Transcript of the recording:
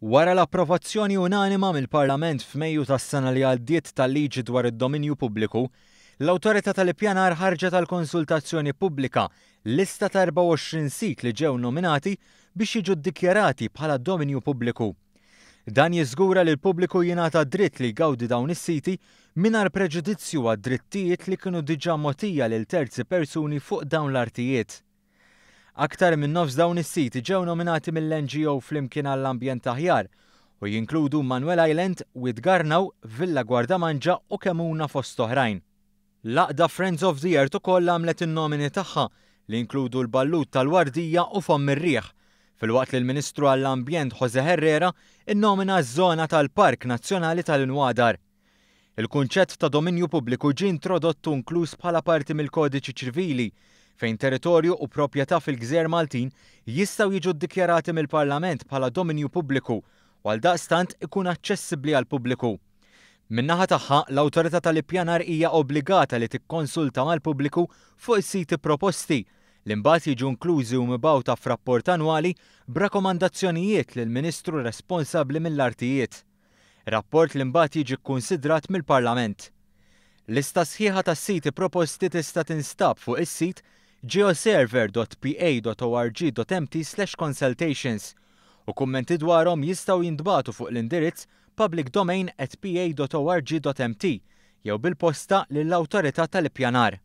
Wara l-approvazzjoni unanima mill-Parlament f'Mejju tas-sena li għaddiet tal-liġi dwar id-dominju pubbliku, l-Awtorità tal-Ippjanar ħarġet għal konsultazzjoni pubblika lista ta' 24 sit li ġew nominati biex jiġu ddikjarati bħala dominju pubbliku. Dan jiżgura li l-pubbliku jingħata d-dritt li jgawdi dawn is-siti mingħajr preġudizzju għad-drittijiet li kienu diġà mogħtija lil terzi persuni fuq dawn l-artijiet. Aktar minn nofs dawn is-siti ġew nominati mill-NGO Flimkien għall-Ambjent Aħjar u jinkludu Manuel Island, Wied Garnaw, Villa Gwardamanġa u Kemuna fost oħrajn. L-għaqda Friends of the Earth ukoll għamlet in-nomini tagħha li jinkludu l-Ballut tal-Wardija u Fomm ir-Riħ, filwaqt li l-Ministru għall-Ambjent José Herrera nnomina ż-żona tal-Park Nazzjonali tal-Inwadar. Il-kunċett ta' dominju pubbliku ġie introdott u inkluż bħala parti mill-Kodiċi Ċivili, fejn territorju u proprjetà fil-gżejjer Maltin jistgħu jiġu ddikjarati mill-Parlament bħala dominju pubbliku u għaldaqstant ikun aċċessibbli għall-pubbliku. Min-naħa tagħha, l-Awtorità tal-Ippjanar hija obbligata li tikkonsulta mal-pubbliku fuq is-siti proposti, li mbagħad jiġu inklużi u mibgħuta f'rapport annwali b'rakkomandazzjonijiet lill-Ministru responsabbli mill-artijiet. Rapport li mbagħad jiġi kkunsidrat mill-Parlament. Lista sħiħa tas-siti proposti tista' tinstab fuq is-sit geoserver.pa.org.mt/consultations u kummenti dwarhom jistgħu jintbagħtu fuq l-indirizz publicdomain@pa.org.mt jew bil-posta lill-Awtorità tal-Ippjanar.